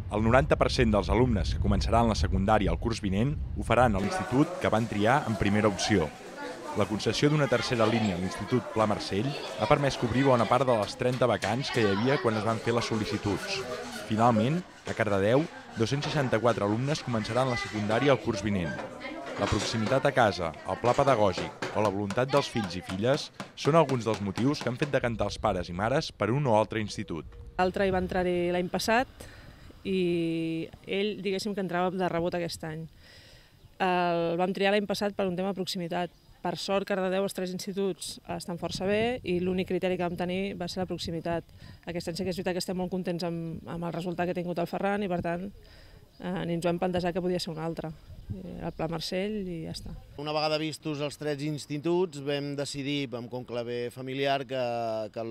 El 90% dels alumnes que començaran la secundària el curs vinent ho faran a l'institut que van triar en primera opció. La concessió d'una tercera línia a l'Institut Pla Marcell ha permès cobrir bona part de les 30 vacants que hi havia quan es van fer les sol·licituds. Finalment, a Cardedeu, 264 alumnes començaran la secundària el curs vinent. La proximitat a casa, el pla pedagògic o la voluntat dels fills i filles són alguns dels motius que han fet decantar els pares i mares per un o altre institut. L'altre hi va entrar-hi l'any passat i ell, diguéssim, que entrava de rebot aquest any. El vam triar l'any passat per un tema de proximitat. Per sort, Cardedeu, els 3 instituts estan força bé i l'únic criteri que vam tenir va ser la proximitat. Aquest any sí que és veritat que estem molt contents amb el resultat que ha tingut el Ferran i, per tant, ni ens ho hem plantejat que podia ser un altre. El Pla Marcell i ja està. Una vegada vistos els 3 instituts vam decidir, amb conclave familiar, que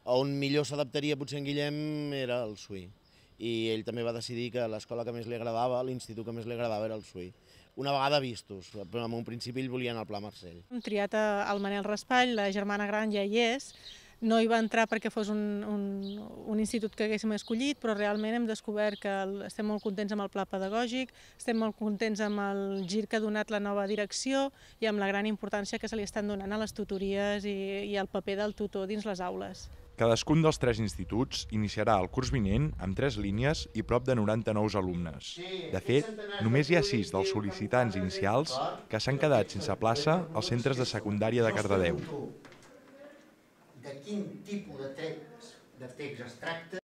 on millor s'adaptaria potser en Guillem era el Suí. I ell també va decidir que l'escola que més li agradava, l'institut que més li agradava era el Suí. Una vegada vistos, però en un principi ell volia anar al Pla Marcell. Hem triat el Manel Raspall, la germana gran ja hi és. No hi va entrar perquè fos un institut que haguéssim escollit, però realment hem descobert que estem molt contents amb el pla pedagògic, estem molt contents amb el gir que ha donat la nova direcció i amb la gran importància que se li estan donant a les tutories i al paper del tutor dins les aules. Cadascun dels 3 instituts iniciarà el curs vinent amb 3 línies i prop de 90 nous alumnes. De fet, només hi ha 6 dels sol·licitants inicials que s'han quedat sense plaça als centres de secundària de Cardedeu. De quin tipus de text es tracta?